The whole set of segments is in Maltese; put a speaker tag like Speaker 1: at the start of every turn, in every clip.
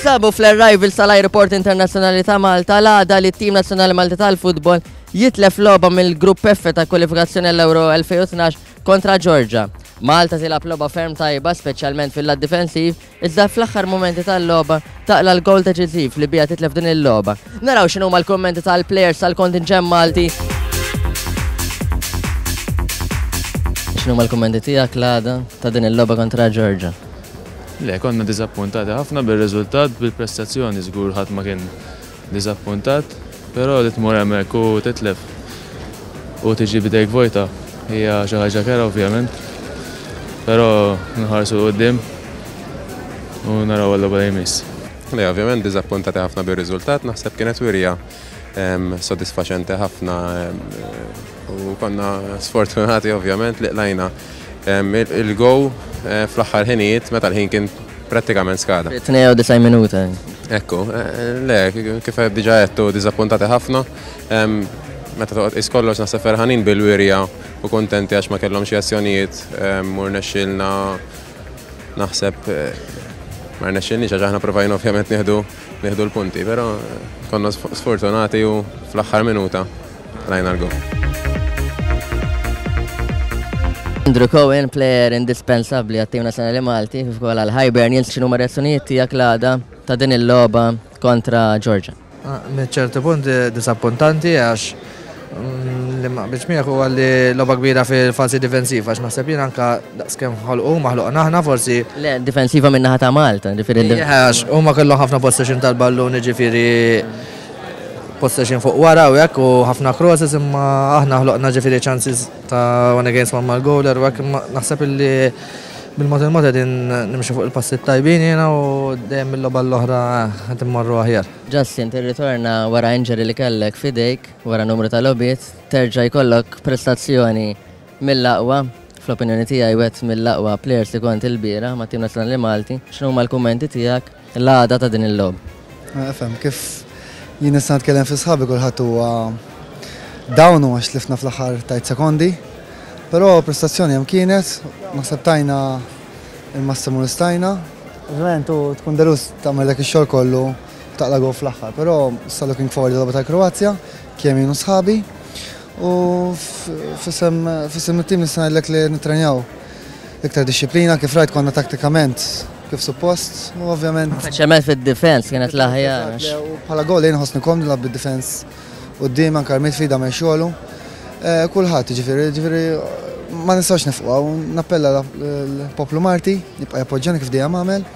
Speaker 1: Ninsabu fl-arrival sal-Aeroport Internazzjonali ta' Malta l-għada li t-tim nazzjonali Malti tal-futbol jitlef logħba mill-Grupp F ta' kwalifikazzjoni l-Euro 2012 kontra Georgia. Malta tilgħab logħba ferm tajba, speċjalment fil-lat difensiv, iżda fl-aħħar mumenti tal-logħba taqla l-gowl deċiżiv li biha titlef din il-logħba. Naraw x'inhuma l-kummenti tal-plejers tal-kontinġent Malti. X'inhuma l-kummenti tiegħek l-għada ta' din il-logħba kontra Georgia?
Speaker 2: Le, konna diżappuntati ħafna bir-riżultat, bil-prestazzjoni żgur ħadd ma kien diżappuntat, però li tmur hemmhekk u titlef u tiġi b'idejk vojta hija xi ħaġa kerha ovvjament. Però nħarsu 'l quddiem u naraw għal-logħba li jmiss.
Speaker 3: Le, ovvjament diżappuntati ħafna bir-riżultat, naħseb kienet wirja sodisfaċenti ħafna u konna sfortunati ovvjament li qlajna il-go fl-aħħar ħinijiet meta l-ħin kien prattikament skada.
Speaker 1: 92 minuta.
Speaker 3: Ekku, le, kif diġa għedtu diżappuntati ħafna. Meta toqgħod tqis kollox naħseb ferħanin bil-wirja u kuntenti għax ma kellhom xi azzjonijiet u rnexxielna naħseb ma rnexxilniex għax aħna provajna ovvjament nieħdu nieħdu l-punti, però konna sfortunati u fl-aħħar minuta rajna l-goal.
Speaker 1: Andrew Cohen, player indispensabbli għat-tim nazzjonali Malti, kif ukoll għal Hibernians, x'inhuma reazzjonijiet tiegħek l-għada ta' din il-logħba kontra Georgia?
Speaker 4: Minn ċertu punt disappuntanti għax li ma qbilx miegħek huwa li logħba kbira fil-fażi difensiva għax naħseb jien anke daqskemm ħolqu huma ħloqna aħna forsi.
Speaker 1: Le, difensiva minn naħa ta' Malta, ġifieri.
Speaker 4: Għax huma kellhom ħafna possession tal-ballun ġifieri possession fuq wara u hekk u ħafna crosses imma aħna ħloqna ġifieri chances ta' one against one mal-goaler u hekk imma naħseb illi bil-mod il-mod qegħdin nimxu fuq il-passi tajbin jiena u dejjem mill-logħba l-oħra qed immorru aħjar.
Speaker 1: Justin, tirritorna wara injury li kellek f'idejk wara numru ta' logħbiet, terġa' jkollok prestazzjoni mill-aqwa, fl-opinjoni tiegħi wieħed mill-aqwa players li kont ilbieraħ mat-tim nazzjonali Malti. X'inhuma l-kummenti tiegħek l-għada ta' din il-logħba?
Speaker 5: Ifhem, kif jien nista' nitkellem fi sħabi kulħadd huwa down u għax tlifna fl-aħħar tajt sekondi. Però prestazzjoni hemm kienet, naħseb tajna il-massimu li stajna. Ovvjament u tkun delus tagħmel dak ix-xogħol kollu taqla' goal fl-aħħar, però issa looking forward il-logħba tal-Kroazja, kemm jien u sħabi. U f'isem f'isem it-tim nista' ngħidlek li nittrenjaw iktar dixxiplina kif rajt konna taktikament kif suppost u ovvjament.
Speaker 1: Speċjalment fid-difens kienet l-aħjar.
Speaker 5: Bħala goal jien nħossni komdu nilgħab bid-difens quddiem anke l-midfield għamel xogħlu. Kulħadd jiġifieri, jiġifieri ma nistgħux nifqu hawn, nappella l-poplu Malti jibqa' jappoġġjani kif dejjem għamel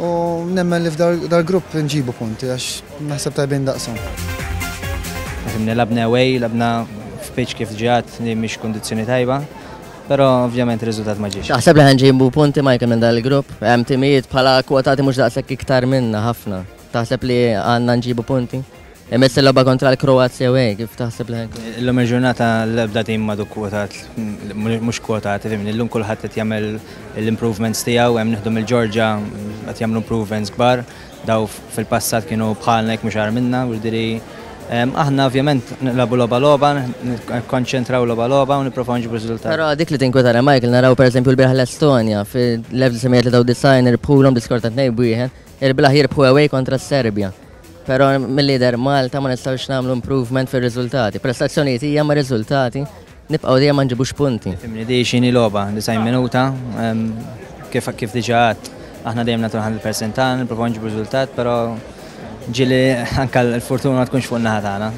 Speaker 5: u nemmen li f'dal-grupp nġibu punti għax naħseb tajbin daqshom.
Speaker 6: Fimni labna away, labna f'pitch kif ġiat li mhix kundizzjoni tajba, però ovvjament ir-riżultat ma ġiex.
Speaker 1: Taħseb li ħa nġibu punti Michael minn dal-grupp? Hemm timijiet bħala kwotati mhux daqshekk iktar minna ħafna. Taħseb li għandna nġibu punti? Imiss il-logħba kontra l-Kroazja away, kif taħseb li ħankun?
Speaker 6: Illum il-ġurnata l-ebda tim m'għadu kwotat, mhux kwotat, fimni, illum kulħadd qed jagħmel l-improvements tiegħu, hemm nieħdu mill-Ġorġa qed jagħmlu improvements kbar, daw fil-passat kienu bħalna jekk mhux agħar minna, jiġifieri aħna ovvjament nilagħbu logħba logħba, nikkonċentraw logħba logħba u nipprovaw nġibu riżultat.
Speaker 1: Però dik li tinkwetana Michael, naraw pereżempju l-bieraħ l-Estonja fil-1993 irbħulhom bi skor ta' 2-1, il-bieraħ jirbħu away kontra s-Serbja. Però mill-lider Malta ma nistgħux nagħmlu improvement fir-riżultati. Prestazzjonijiet hija ma' riżultati nibqgħu dejjem ma nġibux punti.
Speaker 6: Fimni di xini logħba, 90 minuta, kif kif diġà għedt, aħna dejjem nagħtu 100% tagħna, nippruvaw nġibu riżultat, però ġieli anke l-fortuna ma tkunx fuq in-naħa tagħna.